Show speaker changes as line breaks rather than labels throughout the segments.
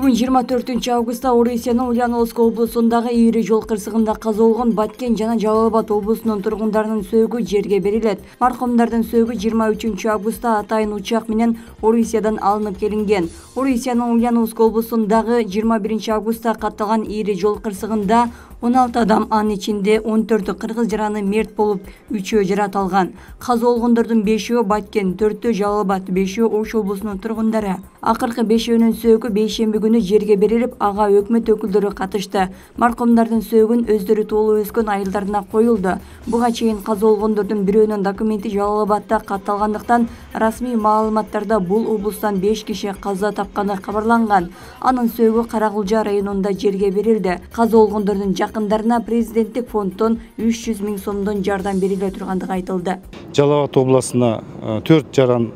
Бүгүн 24-августта Орусиянын Ульяновск облусундагы ири жол кырсыгында каза болгон Баткен жана Жалал Абад облусунун тургундарынын сөөгү жерге берилет. Маркумдардын сөөгү 23-августта атайын учак менен Орусиядан алынып келинген. Орусиянын Ульяновск облусундагы 21-августта катталган ири жол кырсыгында 16 адам, анын ичинде 14 кыргыз жараны мерт болуп, 3-өө жарат алган. Каза болгондордун 5-өө Баткен, 4-өө Жалал Абад, 5-өө Ош облусунун тургундары. Акыркы 5-өөнүн сөөгү бейшемби күнү жерге берилип, ага өкмөт өкүлдөрү катышты. Маркумдардын сөөгүн өздөрү туулуу өскөн айылдарына коюлду. Буга чейин каза болгондордун бирөөнүн документи Жалал Абадда катталгандыктан расмий маалыматтарда бул облустан 5 киши каза тапканы кабарланган. Анын сөөгү Каракулжа районунда жерге берилди. Каза болгондордун жакындарына президенттик фонддон 300 000 сомдон жардам бериле тургандыгы айтылды.
Жалал Абад областына 4 жаран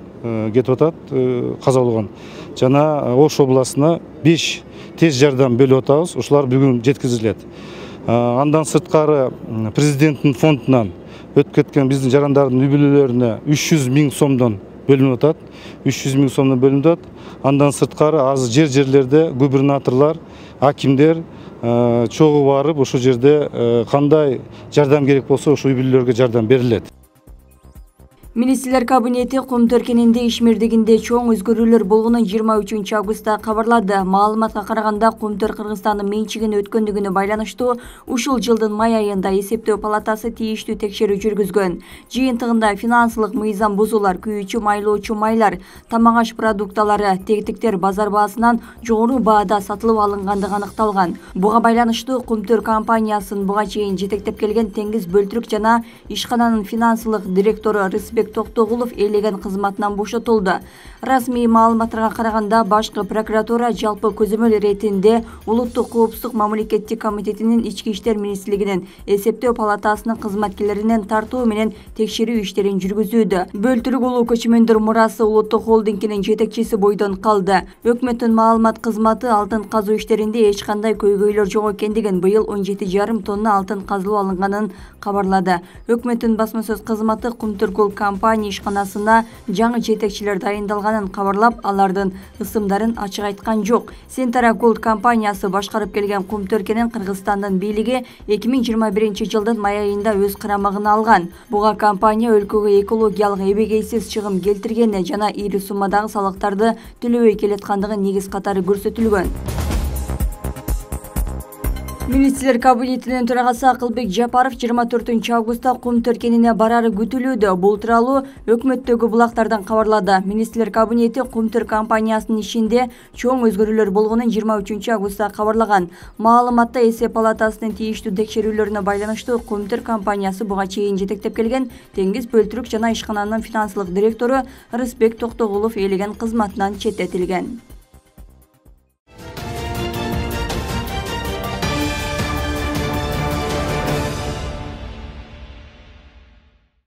кетип атат, каза болгон. Жана Ош областына 5 тез жардам бөлүп атабыз. Ушулар бүгүн жеткизилет. Андан сырткары президенттин фондунан өтүп кеткен биздин жарандардын үй бүлөлөрүнө 300 000 сомдон бөлүнүп атат. 300 000 сомдон бөлүнүп атат. Андан сырткары азыр жерлерде губернаторлор, акимдер чогуу барып, ошол жерде кандай жардам керек болсо, ошол үй бүлөлөргө жардам берилет.
Министрлер кабинети кум төркининде ишмердигинде чоң өзгөрүүлөр болгонун 23-августта кабарлады. Маалыматка караганда, Кумтөр Кыргызстандын менчигине өткөндүгүнө байланыштуу ушул жылдын май айында эсептөө палатасы тийиштүү текшерүү жүргүзгөн. Жыйынтыгында финансылык мыйзам бузуулар, күйүүчү майлоочу майлар, тамак аш продукталары, тегтиктер базар баасынан жогору баада сатылып алынгандыгы аныкталган. Буга байланыштуу Кумтөр компаниясын буга чейин жетектеп келген Теңиз Бөлтүрк жана ишкананын финансылык директору Рысбек Токтогулов ээлеген кызматынан бошотулду. Расмий маалыматтарга караганда, башкы прокуратура жалпы көзөмөл иретинде Улуттук коопсуздук мамлекеттик комитетинин Ички иштер министрлигинин эсептөө палатасынын кызматкерлеринен тартуу менен текшерүү иштерин жүргүзүүдө. Бөлтүрк улуу көчмөндөр мурасы улуттук холдингинин жетекчиси бойдон калды. Өкмөттүн маалымат кызматы алтын казуу иштеринде эч кандай көйгөйлөр жок экендигин, быйыл 17,5 тонна алтын казылып алынганын кабарлады. Өкмөттүн басма сөз кызматы Кумтөр компания ишканасына жаңы жетекчилер дайындалганын кабарлап, алардын ысымдарын ачык айткан жок. Сентара Gold компаниясы башкарып келген Кумтөркенин Кыргызстандын бийлиги 2021-жылдын май айында өз карамагына алган. Буга компания өлкөгө экологиялык эбегейсиз чыгым келтиргени жана ири суммадагы салыктарды төлөбөй келаткандыгы негиз катары көрсөтүлгөн. Министрлер кабинетинин төрагасы Акылбек Жапаров 24-августта Кум төркинине барары күтүлүүдө. Бул тууралуу өкмөттөгү булактардан кабарлады. Министрлер кабинети Кумтөр компаниясынын ишинде чоң өзгөрүүлөр болгонун 23-августта кабарлаган. Маалыматта эсеп палатасынын тийиштүү текшерүүлөрүнө байланыштуу Кумтөр компаниясы буга чейин жетектеп келген Теңиз Бөлтүрк жана ишкананын финансылык директору Рысбек Токтогулов ээлеген кызматынан четтетилген.